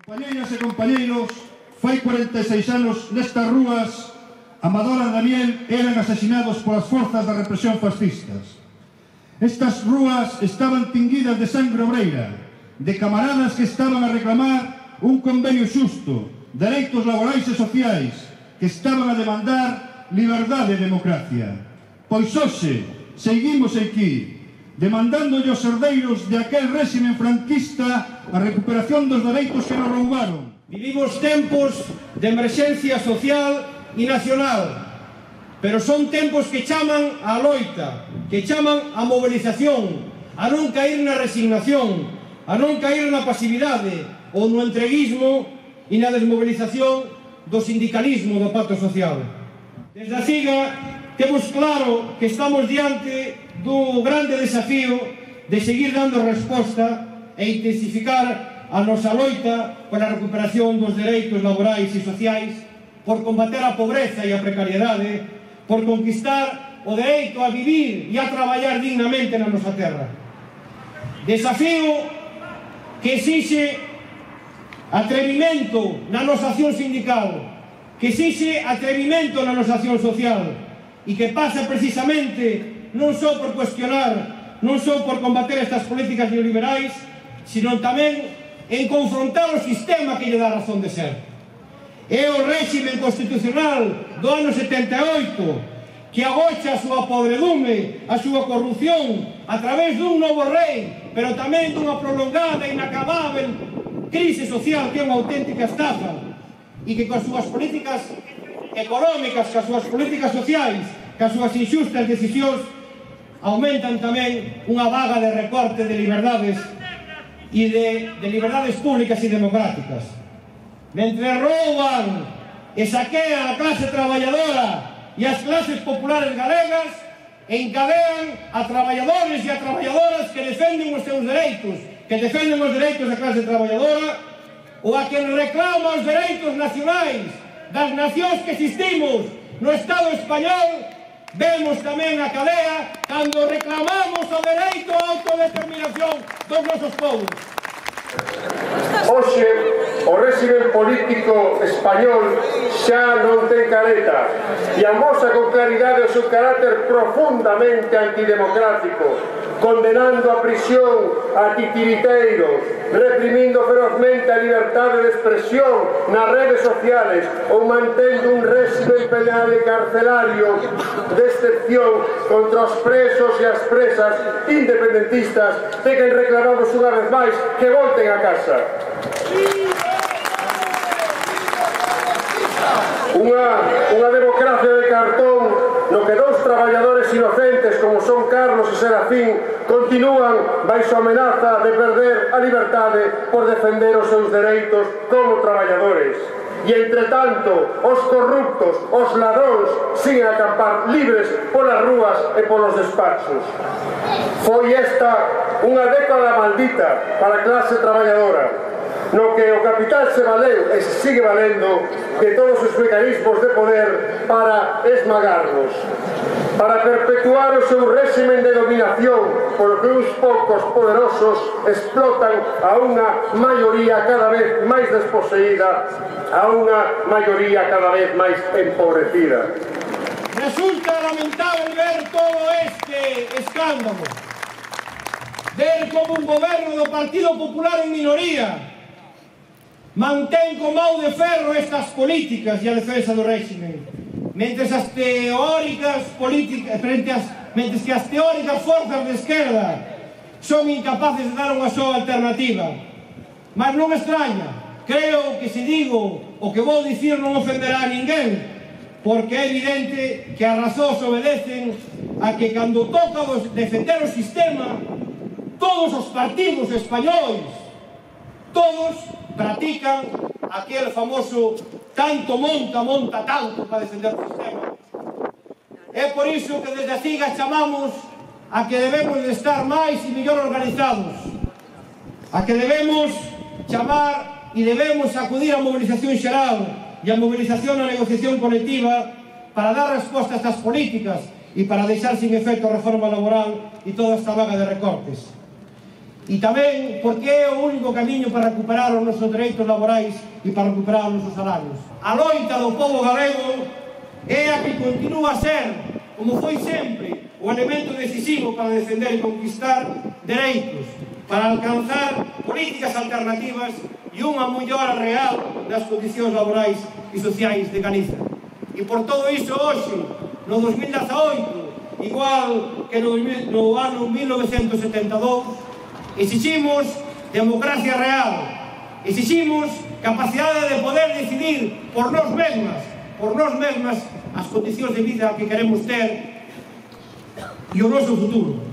Compañeiras e compañeiros, fai 46 anos nestas rúas Amador e Daniel eran asesinados polas forzas da represión fascistas. Estas rúas estaban tinguidas de sangre obreira, de camaradas que estaban a reclamar un convenio xusto, dereitos laborais e sociais, que estaban a demandar liberdade e democracia. Pois hoxe seguimos aquí, demandándolle aos herdeiros de aquel réxime franquista a recuperación dos dereitos que nos roubaron. Vivimos tempos de emerxencia social e nacional, pero son tempos que chaman á loita, que chaman á mobilización, a non caer na resignación, a non caer na pasividade ou no entreguismo e na desmobilización do sindicalismo do pacto social. Desde a CIGA temos claro que estamos diante do grande desafío de seguir dando resposta e intensificar a nosa loita pola recuperación dos dereitos laborais e sociais, por combater a pobreza e a precariedade, por conquistar o dereito a vivir e a traballar dignamente na nosa terra. Desafío que exixe atrevimento na nosa acción sindical, que exixe atrevimento na nosa acción social e que pasa precisamente non só por cuestionar, non só por combater estas políticas neoliberais, sino tamén en confrontar o sistema que lle dá razón de ser. É o réxime constitucional do ano 78 que agocha a súa podredume, a súa corrupción a través dun novo rei, pero tamén dunha prolongada e inacabável crise social que é unha auténtica estafa e que coas súas políticas económicas, coas súas políticas sociais, coas súas inxustas decisións aumentan tamén unha vaga de recorte de liberdades e de liberdades públicas e democráticas. Mentre rouban e saquean a clase traballadora e as clases populares galegas, encadean a traballadores e a traballadoras que defenden os seus dereitos, que defenden os dereitos da clase traballadora, ou a que reclama os dereitos nacionais das nacións que existimos no Estado español. Vemos tamén a cadea cando reclamamos o dereito á autodeterminación dos nosos povos. Hoxe, o réxime político español xa non ten careta e amosa con claridade o seu carácter profundamente antidemocrático, condenando a prisión a titiriteiros, reprimindo ferozmente a liberdade de expresión nas redes sociales ou mantendo un réxime penal e carcelario de excepción contra os presos e as presas independentistas de quen reclamamos unha vez máis que volten a casa. Unha democracia de cartón no que dous traballadores inocentes como son Carlos e Serafín continúan baixo amenaza de perder a liberdade por defender os seus dereitos como traballadores. E, entre tanto, os corruptos, os ladróns, siguen a acampar libres polas rúas e polos despachos. Foi esta unha década maldita para a clase traballadora, no que o capital se valeu e se sigue valendo de todos os mecanismos de poder para esmagarnos, para perpetuar o seu réxime de dominación, polo que uns poucos poderosos explotan a unha maioría cada vez máis desposeída, a unha maioría cada vez máis empobrecida. Resulta lamentable ver todo este escándalo, ver como un goberno do Partido Popular en minoría mantén con mão de ferro estas políticas e a defensa do réxime, mentres que as teóricas forzas de esquerda son incapaces de dar unha soa alternativa. Mas non extraña, creo que se digo o que vou dicir non ofenderá a ninguén, porque é evidente que as razóns obedecen a que cando toca defender o sistema, todos os partidos españois, todos practican aquel famoso tanto monta tanto para defender o sistema. É por iso que desde a CIGA chamamos a que debemos de estar máis e mellor organizados, a que debemos chamar e debemos acudir á mobilización xeral e á mobilización na negociación colectiva para dar resposta a estas políticas e para deixar sin efecto a reforma laboral e toda esta vaga de recortes. E tamén porque é o único camiño para recuperar os nosos dereitos laborais e para recuperar os nosos salarios. A loita do povo galego é a que continúa a ser, como foi sempre, o elemento decisivo para defender e conquistar dereitos, para alcanzar políticas alternativas e unha mellora real das condicións laborais e sociais de Galiza. E por todo iso, hoxe, no 2018, igual que no ano 1972, exiximos democracia real, exiximos capacidade de poder decidir por nós mesmas as condicións de vida que queremos ter e o noso futuro.